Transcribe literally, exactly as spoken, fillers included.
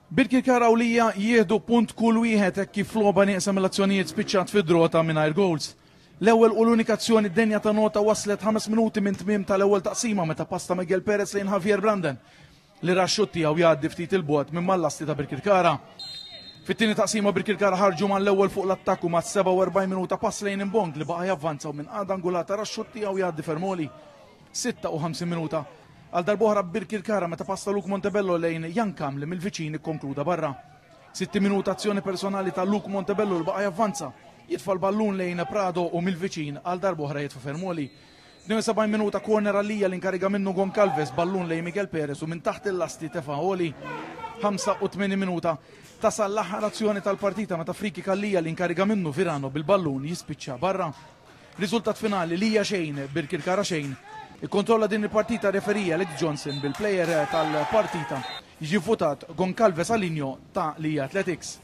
Birkirkara u Lija jieħdu punt kull wieħed hekk kif logħba nieqsa mill-azzjonijiet spiċċat fi draw ta' mingħajr goals. L-ewwel u l-unika azzjoni denja ta' nota waslet ħames minuti minn tmiem tal-ewwel taqsima meta pass ta' Miguel Perez lejn Javier Brandon li ra x-xutt tiegħu jgħaddi ftit 'il bogħod minn mal-lasti ta' Birkirkara. Fit-tieni taqsima Birkirkara ħarġu mal-ewwel fuq l-attakk u mas-sebgħa u erbgħin minuta pass lejn Imbong li baqa' javvanza u minn qagħda angolata ra x-xutt tiegħu jgħaddi fermoli. sitta u ħamsin minuta għal darb'oħra Birkirkara meta pass ta' Luke Montebello lejn Jankam li mill-viċin ikkonkluda barra. Sitti minuta azzjoni personali ta' Luke Montebello li baqa' javvanza, jitfa' l-ballun lejn Prado u mill-viċin għal darb'oħra jitfa' fermoli. tnejn u sebgħin minuta corner għalija li inkariga minnu Goncalves, ballun lejn Miguel Perez u minn taħt il-lasti tefa' għoli. ħamsa u tmenin minuta tasal l-aħħar azzjoni tal-partita meta free kick għalija li inkariga minnu Virano bil-ballun jispiċċa barra. Riżultat finali Lija xejn, Birkirkara xejn. Ikkontrolla din il-partita referee Alex Johnson bil-player tal-partita jiġi votat Goncalves Alinho ta' Lija Athletics.